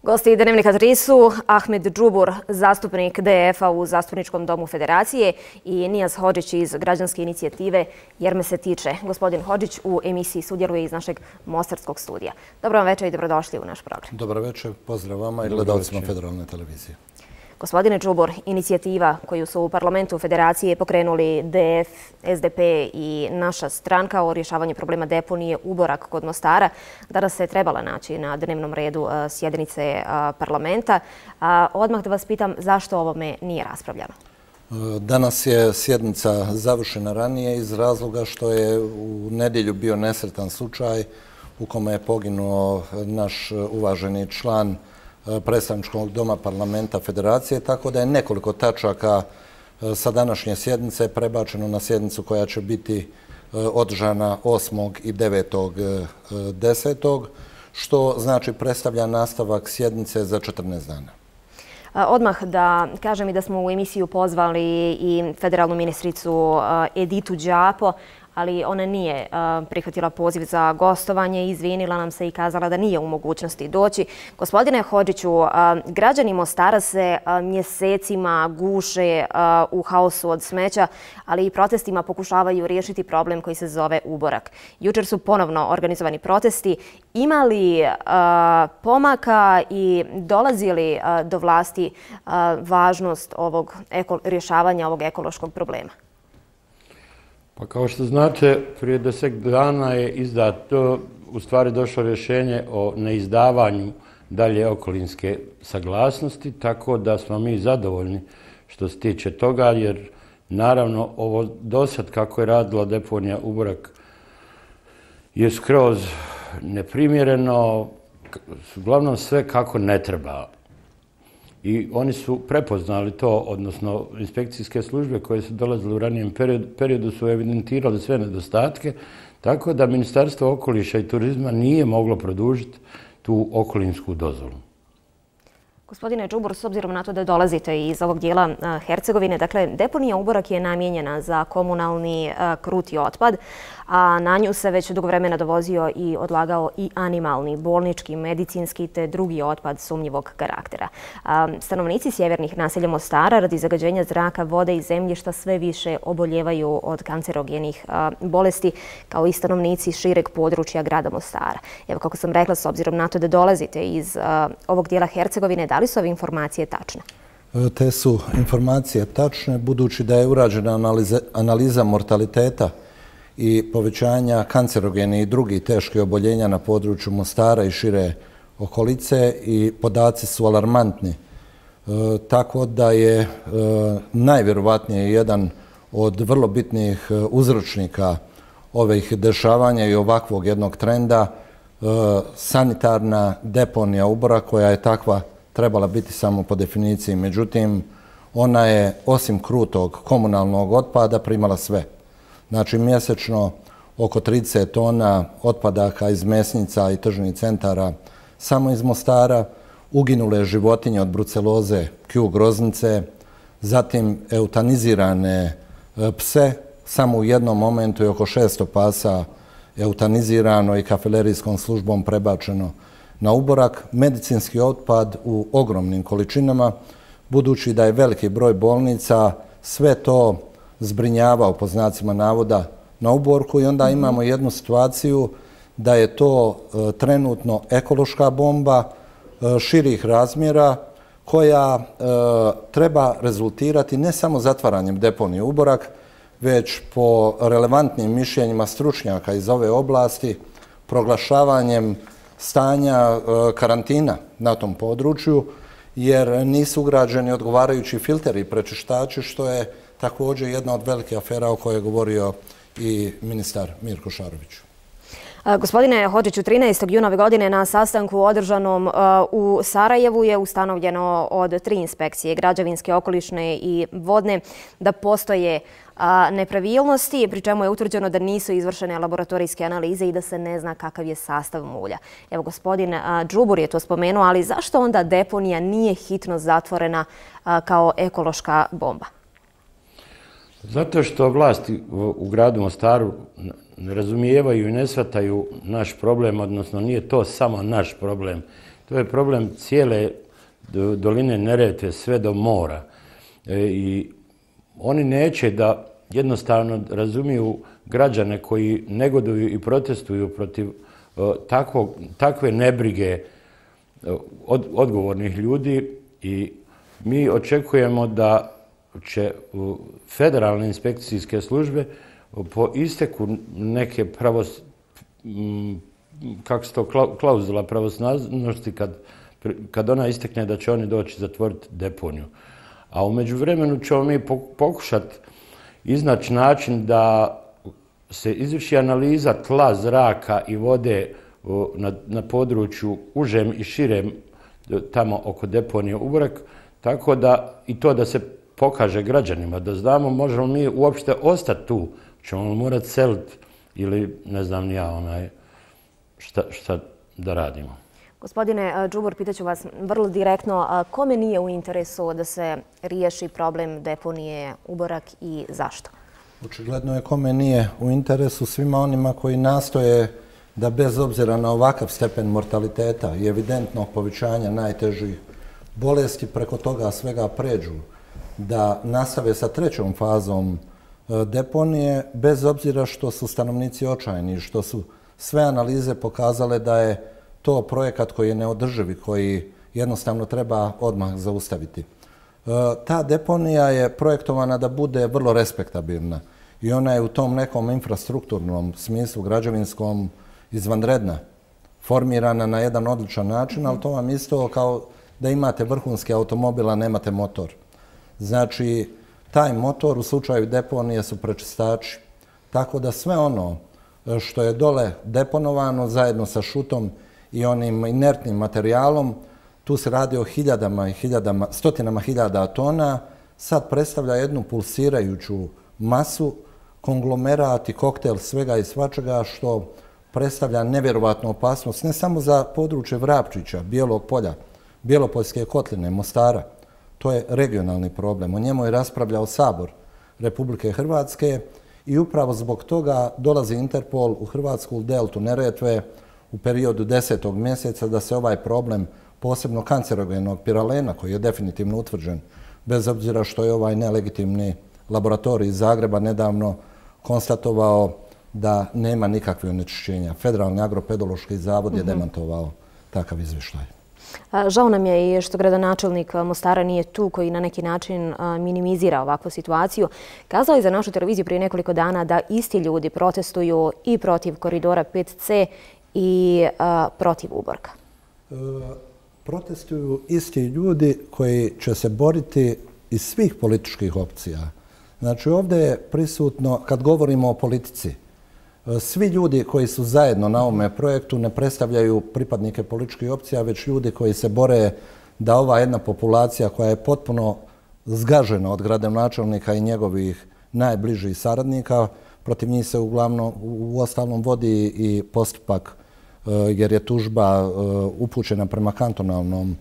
Gosti Dnevnika 3 su Ahmed Džubur, zastupnik DF-a u Zastupničkom domu Federacije, i Nijaz Hodžić iz Građanske inicijative Jer me se tiče. Gospodin Hodžić u emisiji sudjeluje iz našeg mostarskog studija. Dobro vam večer i dobrodošli u naš program. Dobro večer, pozdrav vama i gledalcima Federalne televizije. Gospodine Džubur, inicijativa koju su u parlamentu Federacije pokrenuli DF, SDP i naša stranka o rješavanju problema deponije Uborak kod Mostara danas se trebala naći na dnevnom redu sjednice parlamenta. Odmah da vas pitam zašto ovome nije raspravljano? Danas je sjednica završena ranije iz razloga što je u nedjelju bio nesretan slučaj u kome je poginuo naš uvaženi član predstavničkog doma parlamenta Federacije, tako da je nekoliko tačaka sa današnje sjednice prebačeno na sjednicu koja će biti održana 8. i 9.10. što znači predstavlja nastavak sjednice za 14 dana. Odmah da kažem i da smo u emisiju pozvali i federalnu ministricu Editu Đapo, ali ona nije prihvatila poziv za gostovanje, izvinila nam se i kazala da nije u mogućnosti doći. Gospodine Hodžiću, građani Mostara se mjesecima guše u haosu od smeća, ali i protestima pokušavaju riješiti problem koji se zove Uborak. Jučer su ponovno organizovani protesti. Ima li pomaka i dolazi li do vlasti važnost rješavanja ovog ekološkog problema? Pa kao što znate, prije 10 dana je izdato, u stvari došlo rješenje o neizdavanju dalje okolinske saglasnosti, tako da smo mi zadovoljni što se tiče toga, jer naravno ovo dosad kako je radila deponija Uborak je skroz neprimjereno, uglavnom sve kako ne treba. I oni su prepoznali to, odnosno inspekcijske službe koje su dolazile u ranijem periodu su evidentirali sve nedostatke, tako da Ministarstvo okoliša i turizma nije moglo produžiti tu okolinsku dozvolu. Gospodine Džubur, s obzirom na to da dolazite iz ovog dijela Hercegovine, dakle, deponija Uborak je namijenjena za komunalni kruti otpad, a na nju se već dugo vremena dovozio i odlagao i animalni, bolnički, medicinski te drugi otpad sumnjivog karaktera. Stanovnici sjevernih naselja Mostara radi zagađenja zraka, vode i zemljišta sve više oboljevaju od kancerogenih bolesti, kao i stanovnici šireg područja grada Mostara. Evo, kako sam rekla, s obzirom na to da dolazite iz ovog dijela Hercegovine, da li su ove informacije tačne? Te su informacije tačne, budući da je urađena analiza mortaliteta i povećanja kancerogenih i drugih teških oboljenja na području Mostara i šire okolice i podaci su alarmantni. Tako da je najvjerovatnije jedan od vrlo bitnih uzročnika ovih dešavanja i ovakvog jednog trenda sanitarna deponija Uborak, koja je takva trebala biti samo po definiciji. Međutim, ona je osim krutog komunalnog otpada primala sve. Znači, mjesečno oko 30 tona otpadaka iz mesnica i tržnih centara samo iz Mostara, uginule životinje od bruceloze, Q groznice, zatim eutanizirane pse, samo u jednom momentu je oko 600 pasa eutanizirano i kafelerijskom službom prebačeno na Uborak, medicinski otpad u ogromnim količinama, budući da je veliki broj bolnica sve to zbrinjavao po znacima navoda na Uborku, i onda imamo jednu situaciju da je to trenutno ekološka bomba širih razmjera koja treba rezultirati ne samo zatvaranjem deponije Uborak, već po relevantnim mišljenjima stručnjaka iz ove oblasti proglašavanjem stanja karantina na tom području, jer nisu ugrađeni odgovarajući filteri i prečištači, što je također jedna od velike afera o kojoj je govorio i ministar Mirko Šarović. Gospodine Hodžiću, 13. juna ove godine na sastanku održanom u Sarajevu je ustanovljeno od 3 inspekcije, građevinske, okolišne i vodne, da postoje nepravilnosti, pri čemu je utvrđeno da nisu izvršene laboratorijske analize i da se ne zna kakav je sastav mulja. Evo, gospodin Džubur je to spomenuo, ali zašto onda deponija nije hitno zatvorena kao ekološka bomba? Zato što vlasti u gradu Mostaru ne razumijevaju i ne shvataju naš problem, odnosno nije to samo naš problem, To je problem cijele doline Neretve sve do mora. I oni neće da jednostavno razumiju građane koji negoduju i protestuju protiv takve nebrige odgovornih ljudi i mi očekujemo da će federalne inspekcijske službe po isteku neke klauzula pravosnažnosti kad ona istekne da će oni doći zatvoriti deponiju. A u međuvremenu ćemo mi pokušati iznaći način da se izvrši analiza tla, zraka i vode na području užem i širem tamo oko deponije Uborak, tako da i to da se pokaže građanima, da znamo možemo mi uopšte ostati tu, ćemo morati seliti ili ne znam ni ja šta da radimo. Gospodine Đubor, pitaću vas vrlo direktno, kome nije u interesu da se riješi problem deponije Uborak i zašto? Očigledno je kome nije u interesu svima onima koji nastoje da bez obzira na ovakav stepen mortaliteta i evidentnog povećanja najtežih bolesti preko toga svega pređu, da nastave sa trećom fazom deponije, bez obzira što su stanovnici očajni, što su sve analize pokazale da je to projekat koji je neodrživ i koji jednostavno treba odmah zaustaviti. Ta deponija je projektovana da bude vrlo respektabilna i ona je u tom nekom infrastrukturnom smislu građevinskom izvanredna, formirana na jedan odličan način, ali to vam isto kao da imate vrhunski automobil, a nemate motor. Znači, taj motor u slučaju deponije su prečistači. Tako da sve ono što je dole deponovano zajedno sa šutom i onim inertnim materijalom, tu se radi o stotinama hiljada tona, sad predstavlja jednu pulsirajuću masu, konglomerat i koktel svega i svačega što predstavlja nevjerovatnu opasnost ne samo za područje Vrapčića, Bijelog polja, Bjelopoljske kotline, Mostara. To je regionalni problem. O njemu je raspravljao Sabor Republike Hrvatske i upravo zbog toga dolazi Interpol u Hrvatsku deltu Neretve u periodu 10. mjeseca da se ovaj problem posebno kancerogenog piralena, koji je definitivno utvrđen, bez obzira što je ovaj nelegitimni laboratorij iz Zagreba nedavno konstatovao da nema nikakve onečišćenja. Federalni agropedološki zavod je demantovao takav izvještaj. Žao nam je i što gradonačelnik Mostara nije tu, koji na neki način minimizira ovakvu situaciju. Kazao je za našu televiziju prije nekoliko dana da isti ljudi protestuju i protiv koridora 5C i protiv Uborka. Protestuju isti ljudi koji će se boriti iz svih političkih opcija. Znači ovdje je prisutno, kad govorimo o politici, svi ljudi koji su zajedno na ovome projektu ne predstavljaju pripadnike političkih opcija, već ljudi koji se bore da ova jedna populacija koja je potpuno zgažena od gradonačelnika i njegovih najbližih saradnika, protiv njih se uglavnom u ostalom vodi i postupak jer je tužba upućena prema kantonalnom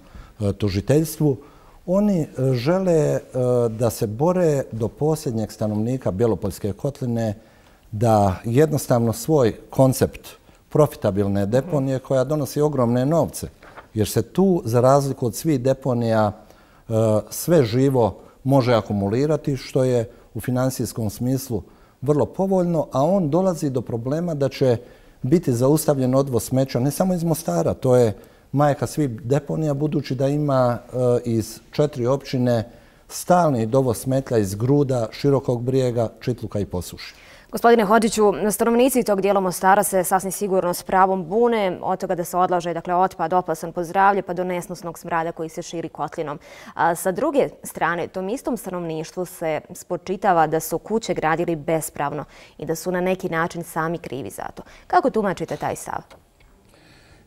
tužiteljstvu. Oni žele da se bore do posljednjeg stanovnika Bjelopoljske kotline, da jednostavno svoj koncept profitabilne deponije koja donosi ogromne novce, jer se tu, za razliku od svih deponija, sve živo može akumulirati, što je u finansijskom smislu vrlo povoljno, a on dolazi do problema da će biti zaustavljen odvoz smeća ne samo iz Mostara, to je majka svih deponija, budući da ima iz 4 općine stalni dovoz smeća iz Gruda, Širokog Brijega, Čitluka i Posuši. Gospodine Hodžiću, stanovnici tog dijela Mostara se sasvim sigurno s pravom bune od toga da se odlaže otpad opasan po zdravlje pa do nesnosnog smrada koji se širi kotlinom. Sa druge strane, tom istom stanovništvu se spočitava da su kuće gradili bespravno i da su na neki način sami krivi za to. Kako tumačite taj stav?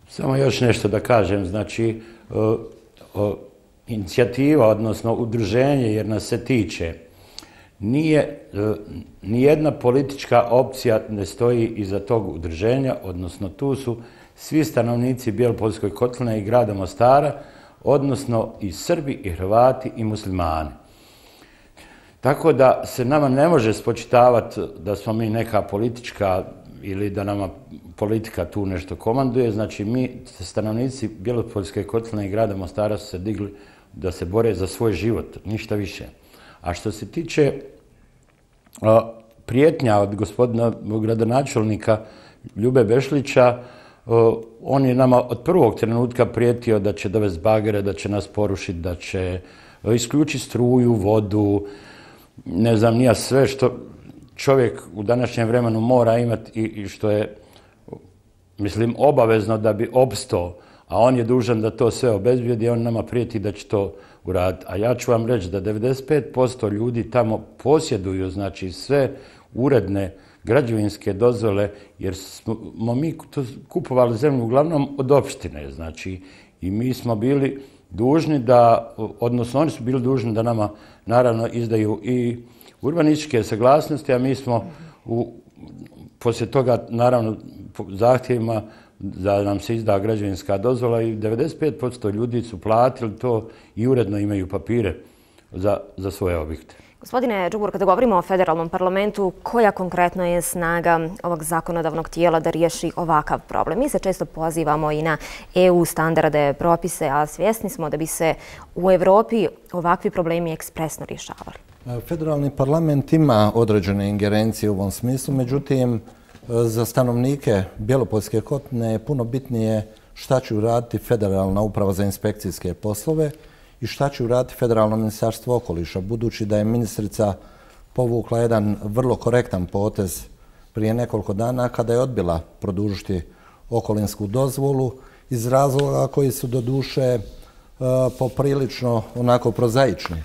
Samo još nešto da kažem. Znači, inicijativa, odnosno udruženje, jer nas se tiče, nijedna politička opcija ne stoji iza tog udruženja, odnosno tu su svi stanovnici Bjelopoljske kotline i grada Mostara, odnosno i Srbi, i Hrvati, i muslimani. Tako da se nama ne može spočitavati da smo mi neka politička ili da nama politika tu nešto komanduje. Znači, mi, stanovnici Bjelopoljske kotline i grada Mostara su se digli da se bore za svoj život, ništa više. A što se tiče prijetnja od gospodina gradonačelnika Ljube Bešlića, on je nama od prvog trenutka prijetio da će dovesti bagere, da će nas porušiti, da će isključiti struju, vodu, ne znam nija sve što čovjek u današnjem vremenu mora imati i što je, mislim, obavezno da bi opstao, a on je dužan da to sve obezbijedi, on nama prijeti da će to uraditi. A ja ću vam reći da 95% ljudi tamo posjeduju, znači, sve uredne građevinske dozvole, jer smo mi kupovali zemlju uglavnom od opštine, znači, i mi smo bili dužni da, odnosno oni su bili dužni da nama, naravno, izdaju i urbanističke saglasnosti, a mi smo poslije toga, naravno, zahtjevima da nam se izda građevinska dozvola i 95% ljudi su platili to i uredno imaju papire za svoje objekte. Gospodine Đubur, kada govorimo o federalnom parlamentu, koja konkretno je snaga ovog zakonodavnog tijela da riješi ovakav problem? Mi se često pozivamo i na EU standarde, propise, a svjesni smo da bi se u Evropi ovakvi problemi ekspresno rješavali. Federalni parlament ima određene ingerencije u ovom smislu, međutim, za stanovnike Bjelopoljske kotline je puno bitnije šta će uraditi Federalna uprava za inspekcijske poslove i šta će uraditi Federalno ministarstvo okoliša, budući da je ministrica povukla jedan vrlo korektan potez prije nekoliko dana kada je odbila produžiti okolinsku dozvolu iz razloga koji su doduše poprilično onako prozaični.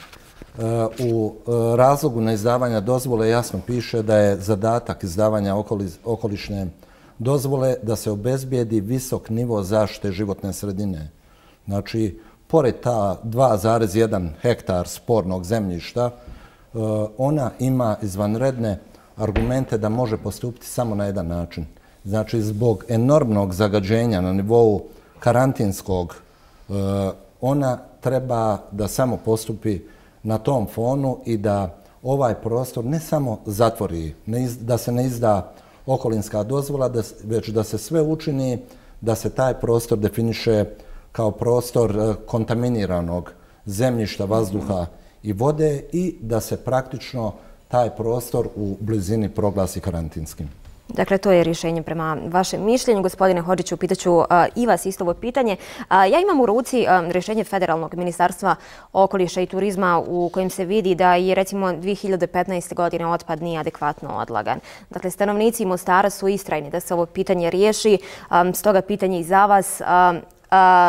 U razlogu neizdavanja dozvole jasno piše da je zadatak izdavanja okolišne dozvole da se obezbijedi visok nivo zaštite životne sredine. Znači, pored ta 2,1 hektar spornog zemljišta, ona ima izvanredne argumente da može postupiti samo na jedan način. Znači, zbog enormnog zagađenja na nivou karantinskog, ona treba da samo postupi na tom fonu i da ovaj prostor ne samo zatvori, da se ne izda okolinska dozvola, već da se sve učini da se taj prostor definiše kao prostor kontaminiranog zemljišta, vazduha i vode i da se praktično taj prostor u blizini proglasi karantinskim. Dakle, to je rješenje prema vašem mišljenju. Gospodine Hodžiću, pitaću i vas isto ovo pitanje. Ja imam u ruci rješenje Federalnog ministarstva okoliša i turizma u kojem se vidi da je recimo 2015. godine otpad nije adekvatno odlagan. Dakle, stanovnici Mostara su istrajni da se ovo pitanje riješi. Stoga pitanje i za vas.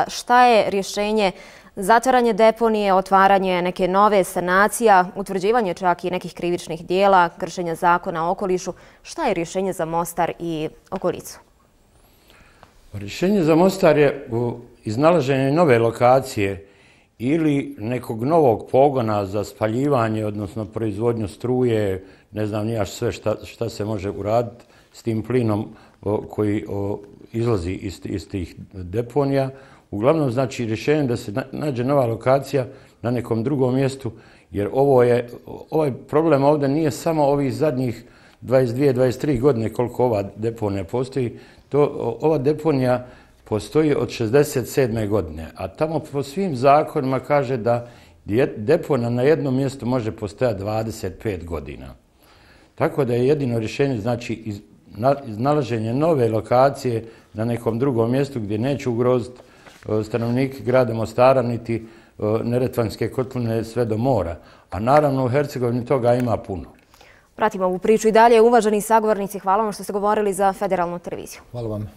Šta je rješenje? Zatvaranje deponije, otvaranje neke nove sanacija, utvrđivanje čak i nekih krivičnih dijela, kršenja zakona o okolišu. Šta je rješenje za Mostar i okolicu? Rješenje za Mostar je iznalaženje nove lokacije ili nekog novog pogona za spaljivanje, odnosno proizvodnju struje, ne znam ni jaš sve šta se može uraditi s tim plinom koji izlazi iz tih deponija. Uglavnom, znači, rješenje da se nađe nova lokacija na nekom drugom mjestu, jer ovaj problem ovdje nije samo ovih zadnjih 22-23 godine koliko ova deponija postoji. Ova deponija postoji od 67. godine, a tamo po svim zakonima kaže da deponija na jednom mjestu može postojati 25 godina. Tako da je jedino rješenje, znači, iznalaženje nove lokacije na nekom drugom mjestu gdje neće ugroziti stanovniki grada Mostara niti Neretvanske kotline sve do mora. A naravno u Hercegovini toga ima puno. Pratimo ovu priču i dalje. Uvaženi sagovornici, hvala vam što ste govorili za Federalnu televiziju. Hvala vam.